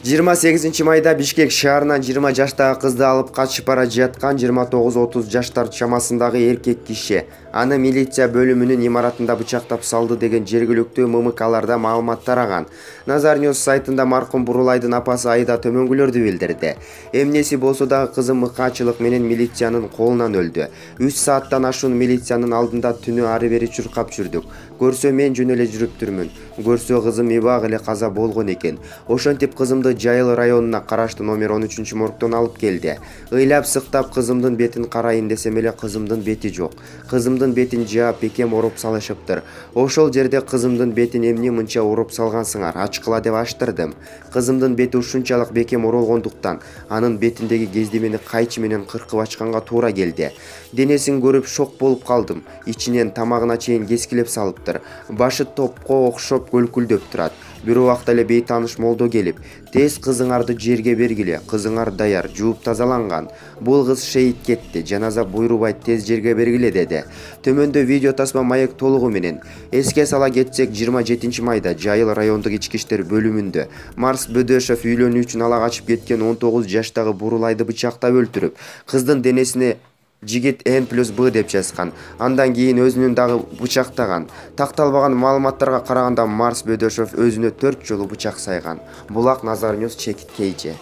28 майда Бишкек шаарынан 20 жаштагы кызды алып качып бара жаткан 29-30 жаштар чамасындагы эркек киши аны милиция бөлүмүнүн имаратында бычактап салды деген жергиликтүү ММКларда маалымат тараган. Nazar News сайтында маркум Бурулайдын апасы Айда төмөнгүлөрдү билдирди. Эмнеси болсо дагы кызым мыкаачылык менен милициянын колунан өлдү. 3 сааттан ашуун милициянын алдында түнү ары бери чуркап жүрдүк. Көрсө мен жөн эле жүрүптүрмүн. Көрсө кызым эбак эле каза болгон экен. Ошентип кызымды Жайыл районуна караштуу номер 13 моргдон алып келди. Ыйлап сыктап кызымдын бетин карайын десем эле кызымдын бети жок. Кызымдын бетин жаап бекем уруп салышыптыр. Ошол жерде кызымдын бетин эмне мынча уруп салгансыңар, ачкыла деп аштырдым. Кызымдын бети ушунчалык бекем урулгондуктан анын бетиндеги кездемени кайчы менен кыркып ачканга туура келди. Денесин көрүп шок болуп калдым. Ичинен тамагына чейин кескилеп салыптыр. Башы топко окшоп көлкүлдөп турат. Бир убакта эле бейтааныш молдо келип, тез кызыңарды жерге бергиле, кызыңар даяр, жууп тазаланган. Бул кыз шейит кетти, жаназа буйрубайт, тез жерге бергиле деди. Төмөндө видео тасма маек толугу менен. Эске сала кетсек, 27 майда Жайыл райондук ички иштер бөлүмүндө Марс Бөдөшов үйлөнүү үчүн ала качып кеткен 19 жаштагы Бурулайды бычактап өлтүрүп, кыздын денесине жигит N+B деп жазган. Андан кийин өзүнүн дагы бычактаган. Такталбаган маалыматтарга караганда Марс Бөдөшов өзүнө 4 жолу бычак сайган. Булак Nazar News чекит KJ.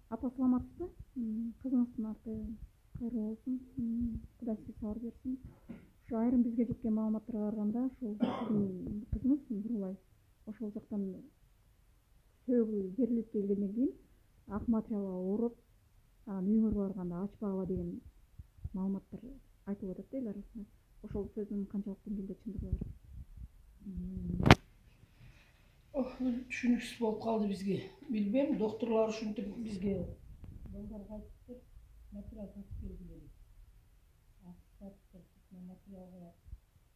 Апа саламатсызбы? Кызыңыздын аты кайрылуу болсун. Кудай сизге сабыр берсин. Ушу айрым бизге жеткен маалыматтарга караганда, ушул кызыңыз Бурулай ошол жактан сөөгү берилип келгенден кийин ак материалга уруп үйүңөргө барганда ачпагыла деген маалыматтар айтылып атат эл арасында. Ошол сөздүн канчалык деңгээлде чындыгы бар? Түшүнүксүз болуп калды бизге. Билбейм, докторлор ушинтип бизге балдарга айтыптыр, материал сатып келгиле деп. Материалга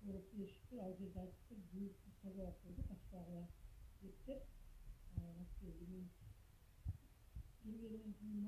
уруп беришиптир, ал жерде айтыптыр, жууп тазалап койдук, ачпагыла дептир. Келгенден кийин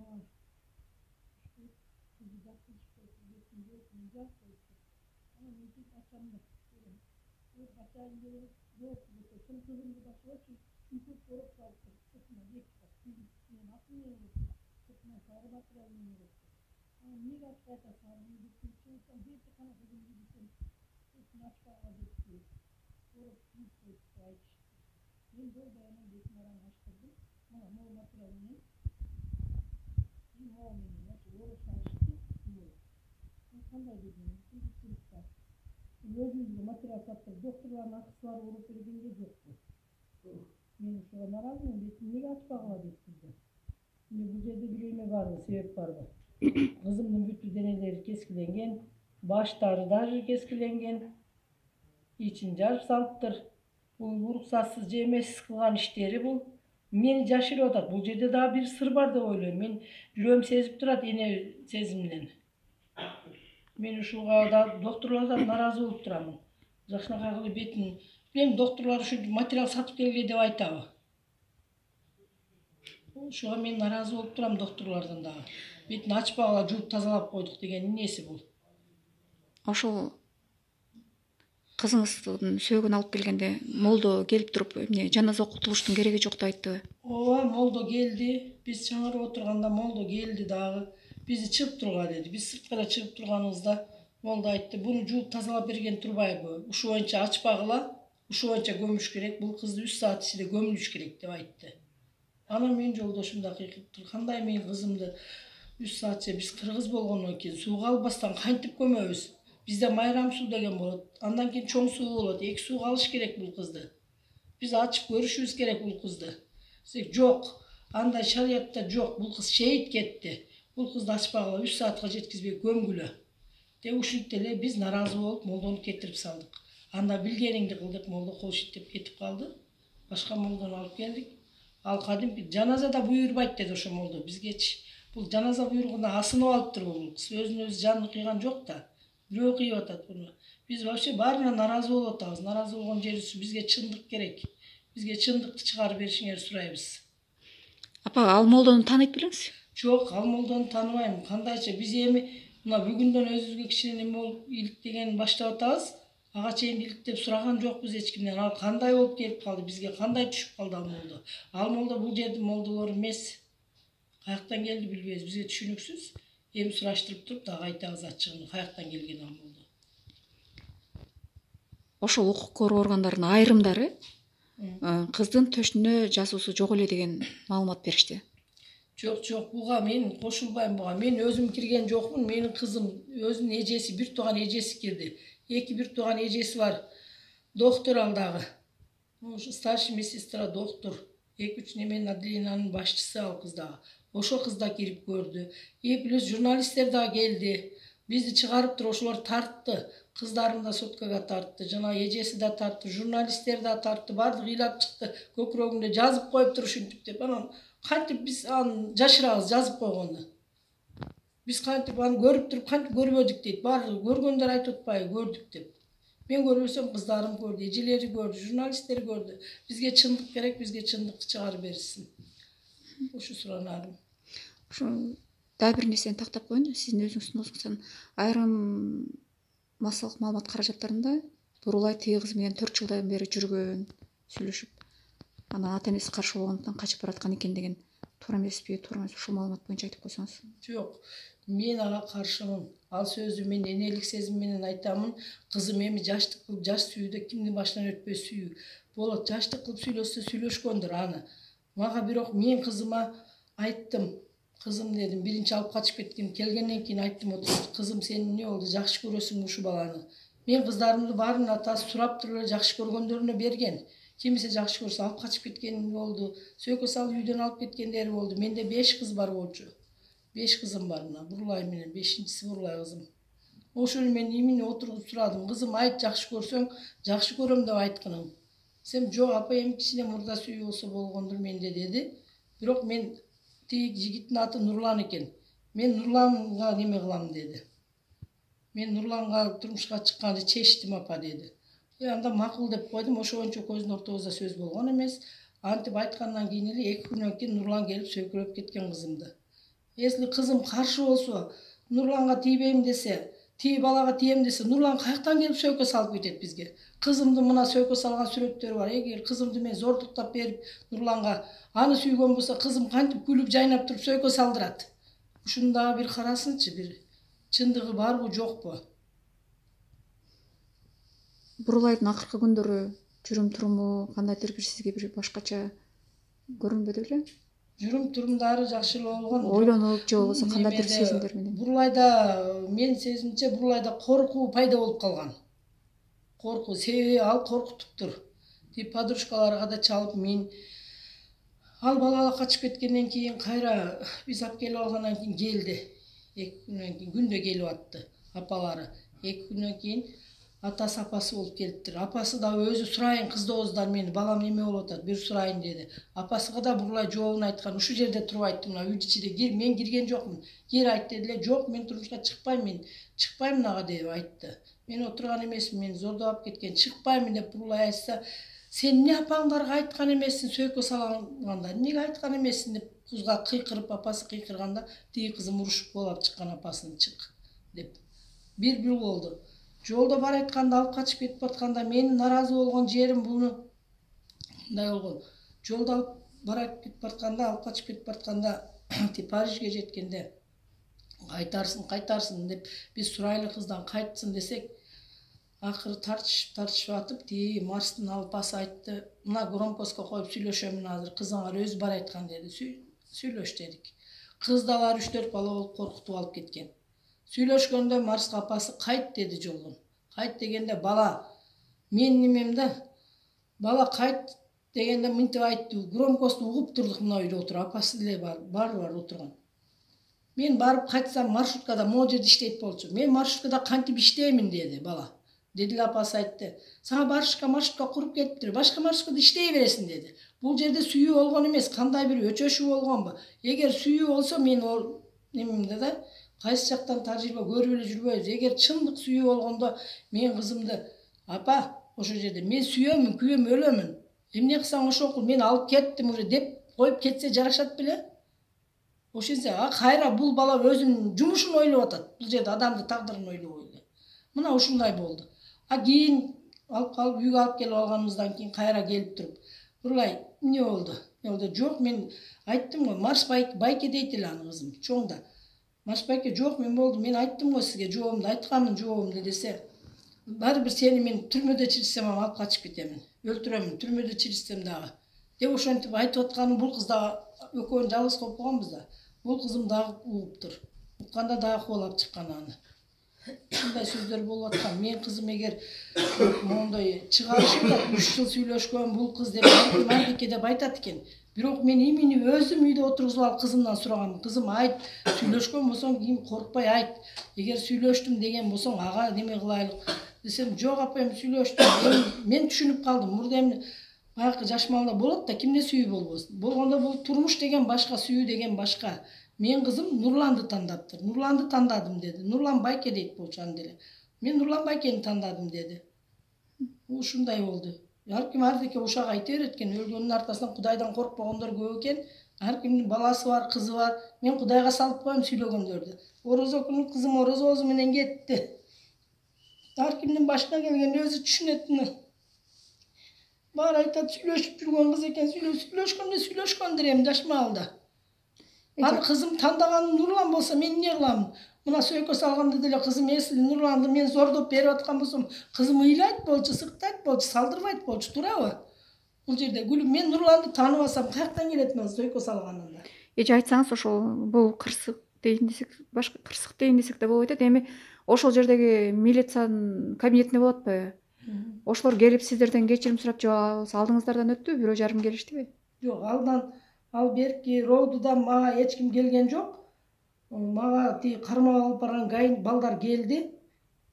өзүбүзгө материал сатып, докторлордун акысы бар уруп бергенге жокпу. Мен ушуга нааразымын, бетин эмнеге ачпагыла депсиздер. Бул жерде бир эме барбы, себеп барбы? Кызымдын бүтү денелери кескиленген, баштары даже кескиленген, ичин жарып салыптыр. Бул уруксатсыз же эмессиз кылган иштери бул. Мени жашырып атат. Бул жерде дагы бир сыр бар деп ойлойм. Мен жүрөгүм сезип турат, эне сезиминен. Мен ушуга да докторлордон нааразы болуп турамын. Жакшынакай кылып бетин, билем докторлор ушу материал сатып келге деп айтабы. Ушуга мен нааразы болуп турам докторлордон дагы. Бетин ачпагыла жууп тазалап койдук деген эмнеси бул? Ошол кызыңыздын сөөгүн алып келгенде молдо келип туруп, эмне жаназа окутулуштун кереги жок деп айтты. Ооба, молдо келди. Биз чаңырып отурганда молдо келди дагы. Бизди чыгып турга деди. Биз сырткара чыгып турганыбызда молдо айтты, буну жууп тазалап берген турбайбы? Ушу боюнча ачпагыла, ушу боюнча көмүш керек. Бул кызды 3 саат ичинде көмүлүш керек деп айтты. Анан менин жолдошум да кыйкырыптыр. Кандай менин кызымды 3 саатча биз кыргыз болгондон кийин сууга албастан кантип көмөбүз? Бизде майрам суу деген болот. Андан кийин чоң суу болот. 2 сууга алыш керек бул кызды. Биз ачып көрүшүбүз керек бул кызды. Жок. Андай шариятта жок. Бул кыз шейит кетти. Бул кызды ачпагыла 3 саатка жеткизбей көмгүлө. Деп ушинтип эле биз нааразы болуп молдону кетирип салдык. Анда билгениңди кыл деп молдо кол шиттеп кетип калды. Башка молдону алып келдик. Ал кадимки жаназада буйрубайт деди ошо молдо бизгечи. Бул жаназа буйругуна асынып алыптыр бул кыз. Өзүн өзү жанын кыйган жок да. Бирөө кыйып атат буну. Биз вообще баарына нааразы болуп атабыз. Нааразы болгон жерибиз бизге чындык керек. Бизге чындыкты чыгарып беришиңерди сурайбыз. Апа, ал молдону тааныйт белеңиз? Жок, ал молдону тааныбайм. Кандайча биз эми мына бүгүндөн өзүбүзгө кичине неме болуп иликтеген баштап атабыз. Ага чейин иликтеп сураган жокпуз эч кимден. Ал кандай болуп келип калды, бизге кандай түшүп калды ал молдо. Ал молдо бул жердин молдолору эмес. Каяктан келди билбейбиз, бизге түшүнүксүз. Эми сураштырып туруп дагы айтабыз ачыгын, каяктан келген ал молдо. Ошол укук коргоо органдарынын айрымдары кыздын төшүнө жазуусу жок эле деген маалымат беришти. Жок, буга мен кошулбайм буга. Мен өзүм кирген жокмун. Менин кызым өзүнүн эжеси, бир тууган эжеси кирди. Эки бир тууган эжеси бар. Доктор ал дагы. Ошо старший медсестра, доктор. 2-3 неменин отделениянын башчысы ал кыз дагы. Ошо кыз да кирип көрдү. Плюс журналисттер да келди. Бизди чыгарып туруп ошолор тартты. Кыздарым да соткага тартты. Жана эжеси да тартты. Журналисттер да тартты. Баардыгы ыйлап чыкты. Көкүрөгүндө жазып коюп туруп ушинтип деп. Анан кантип биз аны жашырабыз жазып койгонду. Биз кантип аны көрүп туруп кантип көрбөдүк дейт. Баардыгы көргөндөр айтып атпайбы көрдүк деп. Мен көрбөсөм кыздарым көрдү, эжелери көрдү, журналисттер көрдү. Бизге чындык керек, бизге чындыкты чыгарып беришсин. Ошо суранарым. Ошо дагы бир нерсени тактап коеюн. Сиздин өзүңүздүн өзүңүздөн айрым массалык маалымат каражаттарында Бурулай тиги кыз менен 4 жылдан бери жүргөн, сүйлөшүп, анан ата энеси каршы болгондуктан качып бараткан экен деген туура эмеспи, туура эмеспи, ушул маалымат боюнча айтып койсоңуз. Жок, мен ага каршымын. Ал сөздү мен энелик сезим менен айтамын. Кызым эми жаштык кылып, жаш сүйүүдө кимдин башынан өтпөй сүйүү. Болот, жаштык кылып сүйлөшсө сүйлөшкөндүр аны. Мага бирок мен кызыма айттым. Кызым дедим, биринчи алып качып кеткем. Келгенден кийин айттым, кызым сен эмне болду? Жакшы көрөсүңбү ушу баланы? Мен кыздарымды баарынын атасы сурап туруп эле жакшы көргөндөрүнө берген. Кимисе жакшы көрсө алып качып кеткен болду. Сөйкө салып үйдөн алып кеткендери болду. Менде 5 кыз бар болчу. 5 кызым бар мына. Бурулай менен 5-инчиси Бурулай кызым. Ошону мен имени отуруп сурадым. Кызым айт, жакшы көрсөң, жакшы көрөм деп айтканым. Сен жок апа, эми кичине мурда сүйүү болсо болгондур менде деди. Бирок мен тиги жигиттин аты Нурлан экен. Мен Нурланга неме кылам деди. Мен Нурланга турмушка чыкканды чечтим апа деди. Анда макул деп койдум. Ошончо көздүн ортобузда сөз болгон эмес. Антип айткандан кийин эле 2 күнөн кийин Нурлан келип сөйкөлөп кеткен кызымды. Если кызым каршы болсо, Нурланга тийбейм десе, тиги балага тием десе, Нурлан каяктан келип сөйкө салып кетет бизге? Кызымды мына сөйкө салган сүрөттөрү бар. Эгер кызымды мен зордуктап берип Нурланга аны сүйгөн болсо, кызым кантип күлүп жайнап туруп сөйкө салдырат? Ушуну дагы бир карасынчы, бир чындыгы барбы, жокпу? Бурулайдын акыркы күндөрү жүрүм-туруму кандайдыр бир сизге бир башкача көрүнбөдү беле? Жүрүм-турумдары жакшы эле болгон. Ойлонуп же болбосо кандайдыр сезимдер менен. Бурулайда, мен сезимче Бурулайда коркуу пайда болуп калган. Коркуу, себеби ал коркутуптур. Тип подружкаларга да чалып, мен ал бала качып кеткенден кийин кайра биз алып келип алгандан кийин келди. 2 күнөн кийин күндө келип атты апалары. 2 күнөн кийин атасы апасы болуп келиптир. Апасы да өзү сурайын кыздооздар мени, балам неме болуп атат, бир сурайын деди. Апасыга да Бурулай жообун айткан. Ушул жерде туруп айтты, мына үй ичиде кир, мен кирген жокмун. Кир айт деди эле. Жок, мен турмушка чыкпайм, мен чыкпайм ага деп айтты. Мен отурган эмесмин, мени зордоп алып кеткен. Чыкпаймын деп Бурулай айтса, сен эмне апаңдарга айткан эмессиң сөйкө салганда? Эмнеге айткан эмессиң деп кызга кыйкырып, апасы кыйкырганда, тиги кызым урушуп куулап чыккан апасын чык деп. Бир болду. Жолдо бар айтканда алып качып кетип атканда менин наразы болгон жерим буну мындай болгон. Жолдо алып барып кетип атканда, алып качып кетип атканда, Парижге жеткенде кайтарсын деп биз сурайлы кыздан кайтсын десек, акыры тартышып атып, тиги Марстын алпасы айтты, мына громкостко коюп сүйлөшөмүн азыр, кызыңар өзү бар айткан деди. Сүйлөш дедик. Кыз да бар 3-4 бала болуп коркутуп алып кеткен. Сүйлөшкөндө Марска апасы кайт деди жолдон. Кайт дегенде бала мен немемде бала кайт дегенде мынтип айтты. Громкосту угуп турдук мына үйдө отуруп, апасы деле бар отурган. Мен барып кайтсам маршруткада могу жерде иштейт болчу. Мен маршруткада кантип иштеймин деди бала. Деди эле апасы айтты. Сага маршрутка куруп кетиптир. Башка маршруткада иштей бересиң деди. Бул жерде сүйүү болгон эмес, кандай бир өчөшүү болгонбу? Эгер сүйүү болсо мен ол немемде да кайсы жактан тажрыйба көрүп эле жүрбөйбүз. Эгер чындык сүйүү болгондо мен кызымды апа ошол жерде мен сүйөмүн, күйөм, өлөмүн. Эмне кылсаң ошо кыл, мен алып кеттим уже деп коюп кетсе жарашат беле? Ошентсе, кайра бул бала өзүнүн жумушун ойлоп атат. Бул жерде адамдын тагдырын ойлобой эле. Мына ушундай болду. Кийин алып калып үйгө алып келип алганыбыздан кийин кайра келип туруп Бургай эмне болду? Жок, мен айттым го, марш байке дейт эле аны кызым, чоң да. Марш байке жок, мен болду, мен айттым го сизге жообумду, айтканмын жообумду десе, баары бир сени мен түрмөдө чирисем алып качып кетемин, өлтүрөмүн, түрмөдө чирисем дагы деп ошентип айтып атканым. Бул кыз дагы экөөнү жалгыз коюп койгонбуз да. Бул кызым дагы угуптур. Укканда дагы кубалап чыккан аны. Ушундай сөздөр болуп аткан. Мен кызым эгер моундай чыгарышымда 3 жыл сүйлөшкөн бул кыз деп Мардике деп айтат экен. Бирок мен имени өзүм үйдө отургузуп алып кызымдан сурагам. Кызым айт, сүйлөшкөн болсоң кийин коркпой айт. Эгер сүйлөштүм деген болсоң ага неме кылайлык десем, жок апайым сүйлөштүм. Мен түшүнүп калдым. Мурда эми баягы жаш малда болот да, кимде сүйүү болбосун. Болгондо бул турмуш деген башка, сүйүү деген башка. Мен кызым Нурланды тандаптыр. Нурланды тандадым деди. Нурлан байке дейт болчу анда эле. Мен Нурлан байкени тандадым деди. Ушундай болду. Ар ким ардеке ушак айта берет экен. Өлгөндүн артасынан Кудайдан коркпогондор көп экен. Ар кимдин баласы бар, кызы бар. Мен Кудайга салып коем сүйлөгөндөрдү. Орозо күнү кызым орозобуз менен кетти. Ар кимдин башына келгенди өзү түшүнөт. Баары айтат, сүйлөшүп жүргөн кыз экен. Сүйлөшкөндүр эми жаш маалда. Аны кызым тандаганын Нурлан болсо мен эмне кылам? Мына сөйкө салганда деле кызым эсли Нурланды мен зордоп берип аткан болсом, кызым ыйлайт болчу, сыктайт болчу, салдырбайт болчу, туурабы? Бул жерде гүлүм, мен Нурланды тааныбасам каяктан келет мен сөйкө салганында? Эже айтсаңыз, ошол бул кырсык дейин десек, башка кырсык дейин десек да болот. Эми ошол жердеги милициянын кабинетинде болот атпайбы? Ошолор келип сиздерден кечирим сурап же алдыңыздардан өттүбү? Бирөө жарым келиштиби? Жок, ал берки Роудудан мага эч ким келген жок. Мага тиги кармап алып барган ГАИ балдар келди.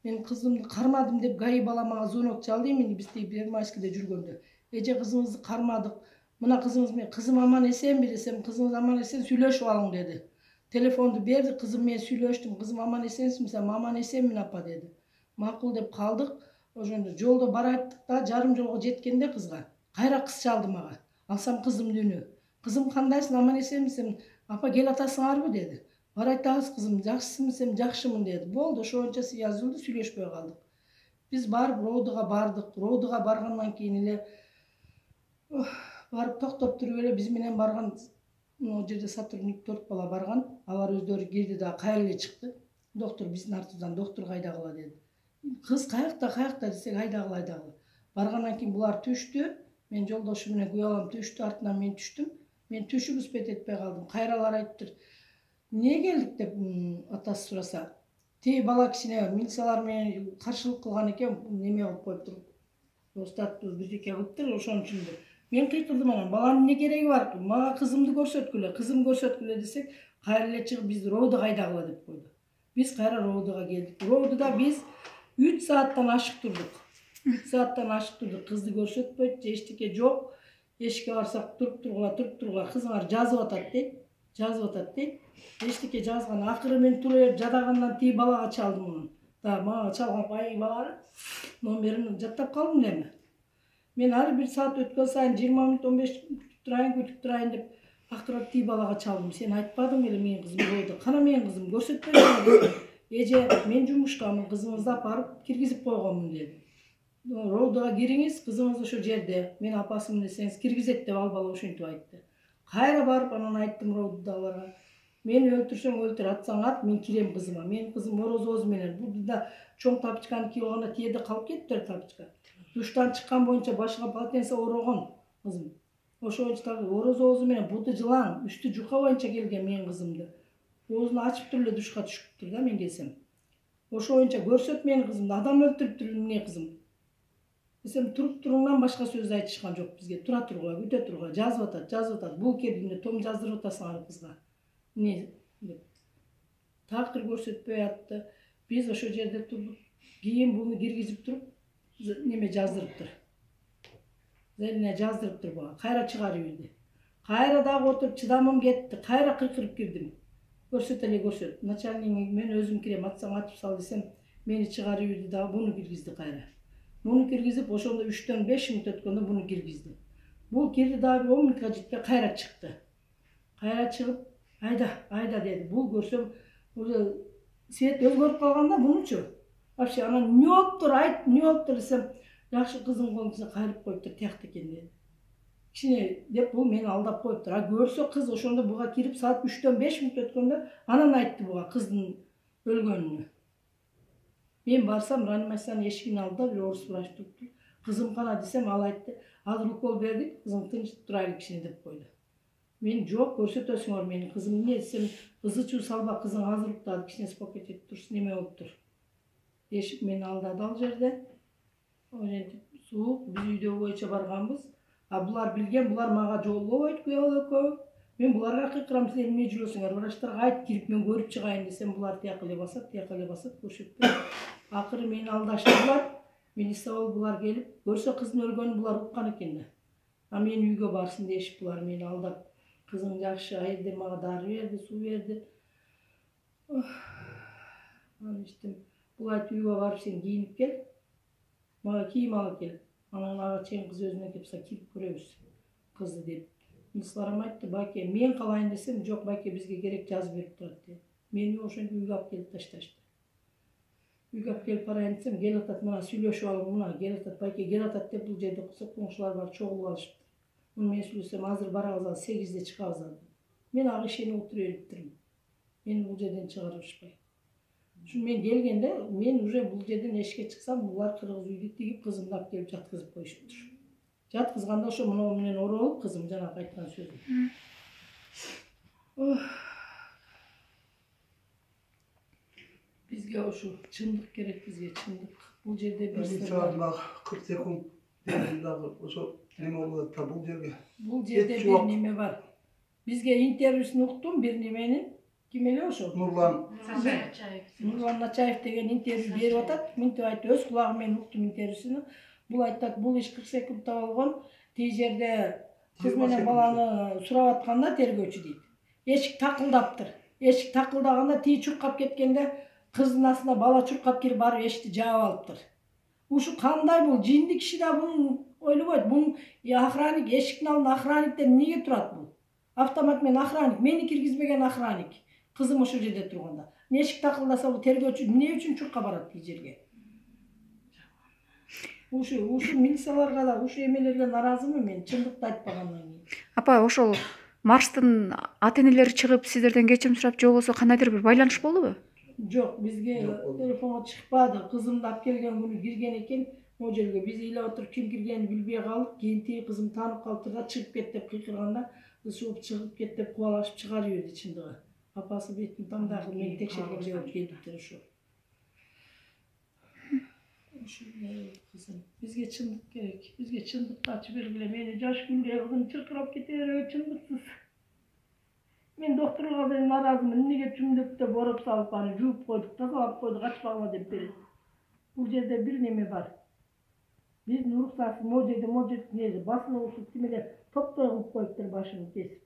Мен кызымды кармадым деп ГАИ бала мага звонок чалды эмне биз тиги Первомайскийде жүргөндө. Эже кызыңызды кармадык. Мына кызыңыз мен, кызым аман эсенби десем, кызыңыз аман эсен, сүйлөшүп алың деди. Телефонду берди, кызым мен сүйлөштүм, кызым аман эсенсиңби десем, аман эсенмин апа деди. Макул деп калдык. Ошондо жолдо бараттык да, жарым жолго жеткенде кызга кайра кыз чалды мага. Алсам кызымды үнү. Кызым кандайсың, аман эсенмисиң? Апа кел атасыңарбы деди. Бар айтабыз кызым, жакшысыңбы десем, жакшымын деди. Болду, ошончо язылды, сүйлөшпөй калдык. Биз барып Роудуга бардык. Роудуга баргандан кийин эле барып токтоп туруп эле биз менен барган могу жерде сотрудник 4 бала барган. Алар өздөрү кирди да кайра эле чыкты. Доктор биздин артыбыздан доктор кайдагыла деди. Кыз каякта десек, айдагыла. Баргандан кийин булар түштү. Мен жолдошум менен күйөө балам түштү, артынан мен түштүм. Мен түшүп успет этпей калдым. Кайралар айтыптыр. Эмне келдик деп атасы сураса. Тиги бала кичине милициялар менен каршылык кылган экен, неме кылып коюптур. Остаттуу бирдеке кылыптыр, ошон үчүн деп. Мен кыйкырдым анан, баланын эмне кереги бар? Мага кызымды көрсөткүлө, десек, кайра эле чыгып биз Роудуга кайдагыла деп койду. Биз кайра Роудуга келдик. Роудуда биз 3 сааттан ашык турдук. 3 сааттан ашык турдук. Кызды көрсөтпөйт, эчтеке жок. Эшикке барсак туруп тургула, кызыңар жазып атат дейт. Эчтеке жазган. Акыры мен туруп элеп жадагандан тиги балага чалдым муну. Да, мага чалган байы баланы номерин жаттап калдым эми. Мен ар бир саат өткөн сайын 20 мүнөт 15 күтүп турайын деп акыры тиги балага чалдым. Сен айтпадың беле менин кызым болду. Кана менин кызым көрсөтпөйсүң. Эже, мен жумушкамын, кызыңызды апарып киргизип койгонмун деди. Роудуга кириңиз, кызыңыз ошо жерде. Мен апасымын десеңиз киргизет деп ал бала ошентип айтты. Кайра барып анан айттым Роудудагыларга. Мени өлтүрсөң өлтүр, атсаң ат, мен кирем кызыма. Менин кызым орозобуз менен. Бул да чоң тапочканы кийип алганда тиеде калып кетиптир тапочка. Душтан чыккан боюнча башыга полотенце орогон кызым. Ошончо орозобуз менен буду жылаң, үстү жука боюнча келген менин кызымды. Оозун ачып туруп эле душка түшүптүр да мен келсем. Ошончо көрсөт менин кызымды, адам өлтүрүптүр эмне кызым. Десем, туруп туруңдан башка сөз айтышкан жок бизге. Тура тургула, күтө тургула, жазып атат. Бул келгенде том жаздырып атасыңар кызга. Эмне деп. Такыр көрсөтпөй атты. Биз ошо жерде турдук. Кийин буну киргизип туруп, неме жаздырыптыр. Зелине жаздырыптыр буга. Кайра чыгарып ийди. Кайра дагы отуруп чыдамым кетти. Кайра кыйкырып кирдим. Көрсөт. Начальник мен өзүм кирем, атсаң атып сал десем, мени чыгарып ийди дагы буну киргизди кайра. Буну киргизип, ошондо 3-төн 5 мүнөт өткөндө буну киргизди. Бул кирди дагы 10 мүнөткө жетпей кайра чыкты. Кайра чыгып, айда деди. Бул көрсөм, свет өзгөрүп калганда бунучу. Вообще анан не болуптур, айт, не болуптур десем, жакшы кыздын колун кайрып коюптур, тиякта экен деди. Кичине деп бул мени алдап коюптур. А көрсө кыз ошондо буга кирип саат 3-төн 5 мүнөт өткөндө анан айтты буга кыздын өлгөнүнү. Мен барсам реанимациянын эшигинин алдында бир орус врач туруптур. Кызым кана десем, ал айтты, азыр укол бердик, кызың тынч турайлы кичине деп койду. Мен жок, көрсөтөсүңөр менин кызым эмне десем, ызы-чуу салба, кызың азыр уктады, кичине спокойт этип турсун, неме болуптур. Дешип мени алдады ал жерде. Ошентип суук, биз үйдө боюнча барганбыз. А булар билген, булар мага жоллобойт күйөө экөө. Мен буларга кыйкырам, силер эмне жүрөсүңөр? Врачтарга айт, кирип мен көрүп чыгайын десем, булар тияка эле басат, көрсөтпөйт. Акыры мени алдаштырдылар. Милиция булар келип, көрсө кыздын өлгөнүн булар уккан экен да. А мен үйгө барсын дешип булар мени алдап. Кызың жакшы, айылда мага дары берди, суу берди. Анан иштим. Бул айтып үйгө барып сен кийинип кел. Мага кийим алып кел. Анан ага чейин кыз өзүнө кепсе кирип көрөбүз кызды деп. Мисаларым айтты, байке, мен калайын десем, жок байке, бизге керек жазып берип турат деп. Мени ошентип үйгө алып келип ташташты. Үйгө алып келип барайын десем, кел атат, мына сүйлөшүп алып, мына кел атат, байке, кел атат деп бул жерде коңшулар бар, чогулуп алышыптыр. Мен сүйлөсөм, азыр барабыз, 8-де чыгабыз ал. Мен ага ишенип отура бериптирмин. Мени бул жерден чыгарышпай. Ушун мен келгенде, мен уже бул жерден эшикке чыксам, булар кыргыз үйдү тигип, кызымды алып келип жаткызып коюшуптур. Жаткызганда ошо мына менен оролуп, кызым жанагы айткан сөзүм. Бизге ошо чындык керек, бизге чындык. Бул жерде бир саат 40 секунд дагы ошо неме болот да бул жерге. Бул жерде бир неме бар. Бизге интервьюсун уктум бир неменин. Ким эле ошо? Нурлан Начаев деген интервью берип атат. Мынтип айтты, өз кулагым менен уктум интервьюсуну. Бул айтат, бул иш 40 секундта болгон. Тиги жерде кыз менен баланы сурап атканда тергөөчү дейт. Эшик такылдаптыр. Эшик такылдаганда тиги чуркап кеткенде кыздын астына бала чуркап кирип барып эшикти жаап алыптыр. Ушу кандай бул жинди киши да бун ойлобойт. Бун охранник, эшиктин алдында охранниктер эмнеге турат бул? Автомат менен охранник, мени киргизбеген охранник. Кызым ошол жерде турганда. Эшик такылдаса бул тергөөчү эмне үчүн чуркап барат тиги жерге? Ушу милицияларга да, ушу эмелерге наразымын мен, чындыкты айтпагандан кийин. Апа, ошол марштын ата-энелери чыгып сиздерден кечирим сурап же болбосо кандайдыр бир байланыш болдубу? Жок, бизге телефонго чыкпады. Кызымды алып келген күнү кирген экен могу жерге. Биз ыйлап отуруп ким киргенин билбей калдык. Кийин тиги кызым таанып калыптыр да, чыгып кет деп кыйкырганда, кыз чыгып кет деп кубалашып чыгарып жиберди чындыгы. Апасы бетин таңдай кылып мени текшергенде болуп келиптир ошо. Кызым, бизге чындык керек. Бизге чындыкты ачып бергиле. Мени жаш күндө кызым чыркырап кете берет, чындыксыз. Мен доктурга да наразымын. Эмнеге чүмдүктө бороп салып аны жууп койдук, тазалап койдук, ачпагыла деп берет. Бул жерде бир неме бар. Биздин уруксатсыз могу жерде неде басылып ушул тимелер топтой кылып коюптур башын кесип.